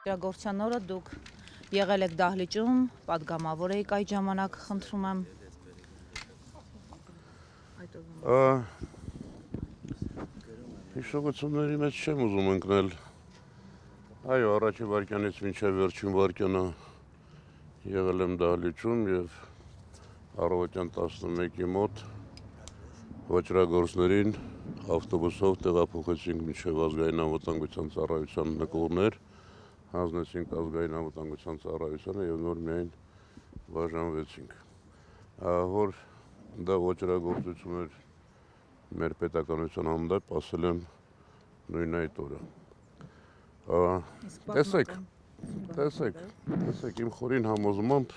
Իրագործության օրը դուք եղել եք դահլիճում, պատգամավոր եք այդ ժամանակ, խնդրում եմ։ Հիշողությունների մեջ չեմ ուզում ընկնել։ Այո, առաջի վայրկյանից մինչև վերջին վայրկյանը եղել եմ դահլիճում եւ առավոտյան 11-ի մոտ վճռագործներին ավտոբուսով տեղափոխեցինք մինչև ազգային անվտանգության ծառայության նկուղներ, հանձնեցինք ազգային անվտանգության ծառայությանը եւ նոր միայն բաժանվեցինք։ Որ դա վճռագործություն էր մեր պետականության հանդեպ, ասել եմ նույն այդ օրը։ Տեսեք, իմ խորին համոզմամբ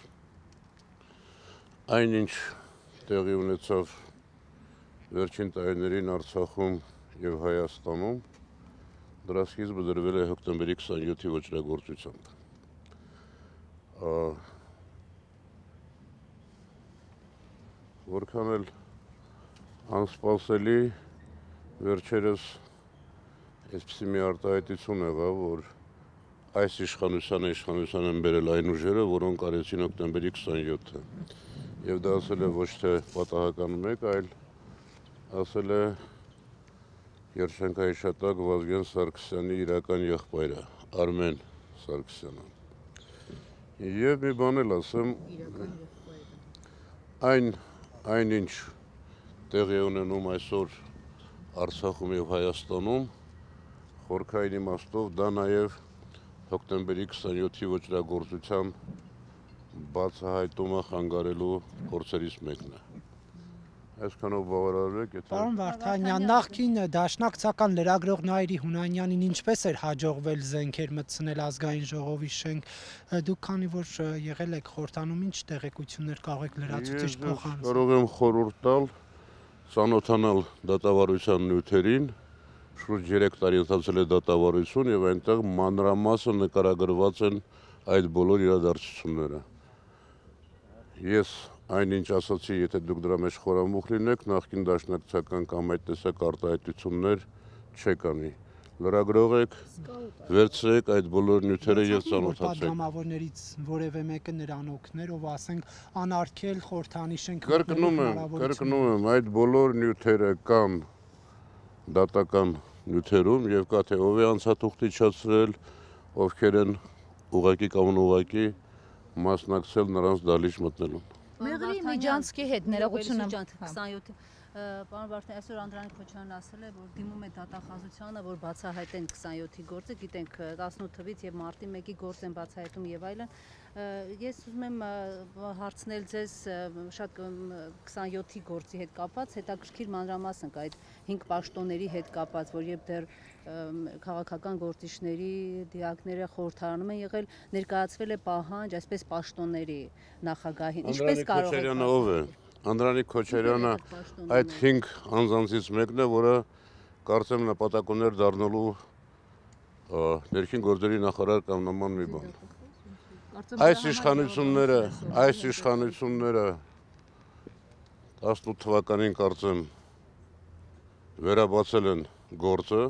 այնինչ տեղի ունեցավ վերջին տարիներին Արցախում եւ Հայաստանում, դրա սկիզբը դրվել է հոկտեմբերի 27-ի ոճրագործությամբ։ Որքան էլ անսպասելի վերջերս այսպիսի մի արտահայտություն եղավ, որ այս իշխանության են բերել այն ուժերը, որոնք արեցին հոկտեմբերի 27-ը։ Եվ դա ասել է ոչ թե պատահական մեկ, այլ ասել է Երշանքահիշատակ Վազգեն Սարգսյանի իրական եղբայրը, Արմեն Սարգսյանը։ Եվ մի բան էլ ասեմ, այնինչ տեղի ունենում այսօր Արցախում եւ Հայաստանում, խորքային իմաստով դա նաեւ հոկտեմբերի 27-ի ոճրագործության բացահայտումը խանգարելու փորձերից մեկն է։ Այսքանով բավարարեք, եթե Պարոն Վարդանյան, նախկին դաշնակցական լրագրող Նայիրի Հունանյանին ինչպես էր հաջողվել զենքեր մտցնել ազգային ժողովի շենք, դուք քանի որ եղել եք խորհրդանում, ինչ տեղեկություններ կարող եք լրացուցիչ փոխանցել։ Կարող եմ խորհուրդ տալ ծանոթանալ դատավարության նյութերին, շուրջ 3 տարի ընթացել է դատավարություն եւ այնտեղ մանրամասն նկարագրված են այդ բոլոր իրադարձությունները։ Ես այնինչ ասացի, եթե դուք դրա մեջ խորամուխ լինեք, նախկին դաշնակցական կամ այդ տեսակ արտահայտություններ չեք անի։ Լրագրող եք, վերցրեք այդ բոլոր նյութերը եւ ծանոթացեք։ Պատգամավորներից որևէ մեկը նրան օգներ, ով ասենք անարգել խորհրդանի շենք։ Կրկնում եմ, այդ բոլոր նյութերը կան դատական նյութերում եւ կա թե ով է անցաթուղթ իջացրել, ովքեր են ուղղակի կամ անուղղակի մասնակցել նրանց դահլիճ մտնելուն։ Մեղրի Միջանցքի հետ ներողություն եմ։ 27 Պարոն Վարդանյան, այսօր Անդրանիկ Քոչարյանն ասել է, որ դիմում է դատախազությանը, որ բացահայտեն 27-ի գործը, գիտենք 18 թվից եւ մարտի 1-ի գործ են բացահայտում եւ այլն։ Ես ուզում եմ հարցնել ձեզ շատ 27-ի գործի հետ կապված, հետաքրքիր մանրամասն կա այդ 5 պաշտոնների հետ կապված, որ երբ դեռ քաղաքական գործիչների դիակները խորհրդարանում են եղել, ներկայացվել է պահանջ այսպես պաշտոնների նախագահին։ Ինչպես կարող եք ով է։ Անդրանիկ Քոչարյանը այդ 5 անձանցից մեկն է, որը կարծեմ նպատակ ուներ դառնալու ներքին գործերի նախարար կամ նման մի բան։ Այս իշխանությունները 18 թվականին կարծեմ վերաբացել են գործը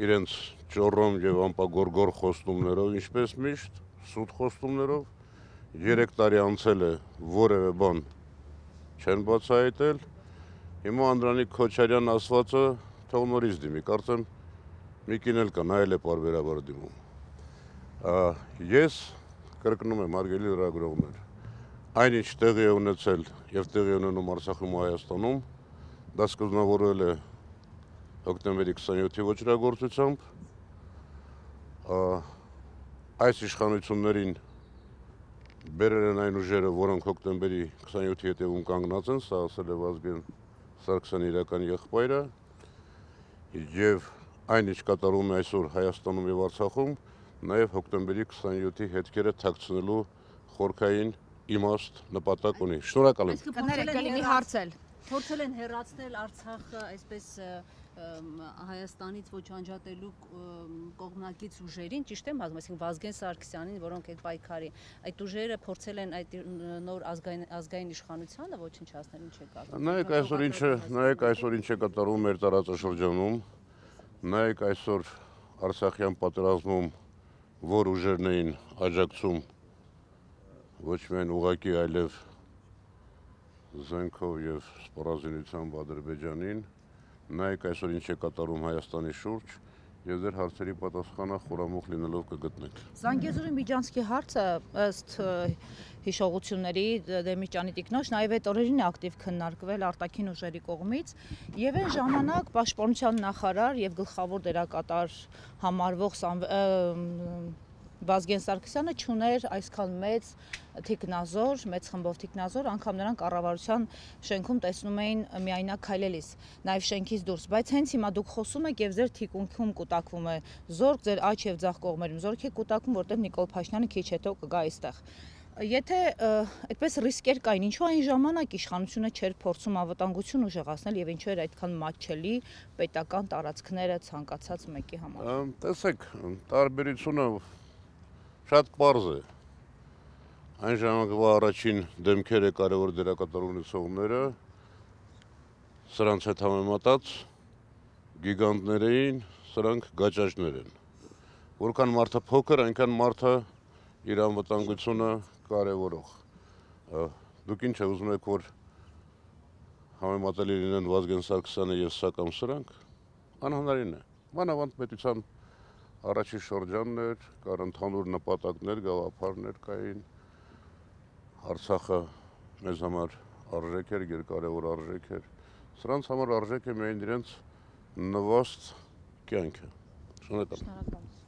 իրենց ճոռոմ եւ անպագորգոր խոստումներով, ինչպես միշտ, սուտ խոստումներով 3 տարի անցել է, որևէ բան չեն բացահայտել։ Հիմա Անդրանիկ Քոչարյան ասվածը թող նորից դիմի, կարծեմ մի կին էլ կա, նա էլ է պարբերաբար դիմում։ Ես կրկնում եմ, հարգելի լրագրողներ, այնինչ տեղի է ունեցել եւ տեղի ունենում Արցախում ու Հայաստանում, դա սկզբնավորվել է հոկտեմբերի 27-ի ոճրագործությամբ, այս իշխանություններին բերել են այն ուժերը, որոնք հոկտեմբերի 27-ի հետևում կանգնած են, սա ասել է Վազգեն Սարգսյանի իրական եղբայրը, եւ այն ինչ կատարում է այսօր Հայաստանում եւ Արցախում, նաեւ հոկտեմբերի 27-ի հետքերը թաքցնելու խորքային իմաստ նպատակ ունի։ Շնորհակալ եմ։ Կներեք, կլինի հարցել։ Փորձել են հեռացնել Արցախը այսպես Հայաստանից ոչ անջատելու կողմնակից ուժերին, ճիշտ եմ ասում, այսինքն Վազգեն Սարգսյանին, որոնք այդ պայքարի, այդ ուժերը փորձել են այդ նոր ազգային իշխանությանը ոչնչացնել, ինչ է կատարվում։ Նայեք այսօր ինչ է կատարվում մեր տարածաշրջանում, նայեք այսօր Արցախյան պատերազմում որ ուժերն էին աջակցում ոչ միայն ուղղակի, այլև զենքով եւ սպառազինությամբ Ադրբեջանին, նայեք այսօր ինչ է կատարում Հայաստանի շուրջ եւ ձեր հարցերի պատասխանը խորամուխ լինելով կգտնեք։ Զանգեզուրի Միջանցքի հարցը ըստ հիշողությունների Դեմիրճյանի տիկնոջ նաև այդ օրերին է ակտիվ քննարկվել արտաքին ուժերի կողմից եւ այն ժամանակ պաշտպանության նախարար եւ գլխավոր դերակատար համարվող Վազգեն Սարգսյանը չուներ այսքան մեծ թիկնազոր, մեծ խմբով թիկնազոր, անգամ նրանք կառավարության շենքում տեսնում էին միայնակ քայլելիս, նաև շենքից դուրս, բայց հենց հիմա դուք խոսում եք եւ ձեր թիկունքում կուտակվում է զորք, ձեր աջ եւ ձախ կողմերում զորք է կուտակվում, որտեղ Նիկոլ Փաշինյանը քիչ հետո կգա այստեղ։ Եթե այդպես ռիսկեր կային, ինչու այն ժամանակ իշխանությունը չէր փորձում անվտանգություն ուժեղացնել եւ ինչու էր այդքան մատչելի պետական տարածքները ցանկացած մեկի համար։ Տեսեք, տարբերությունը շատ պարզ է։ Այն ժամանակվա առաջին դեմքերը կարևոր դերակատար ունեցողները սրանց հետ համեմատած գիգանտներ էին, սրանք գաճաճներ են։ Որքան մարդը փոքր, այնքան մարդը իր անվտանգությունը կարևորող։ Դուք ինչ ուզում եք, որ համեմատելի լինեն Վազգեն Սարգսյանը եւ սա կամ սրանք, անհնարին է։ Մանավանդ պետության առաջի շրջանն էր, կար ընդհանուր նպատակներ, գաղափարներ կային, Արցախը մեզ համար արժեք էր, երկարևոր արժեք էր, սրանց համար արժեք է միայն իրենց նվաստ կյանքը։ Շնորհակալ եմ։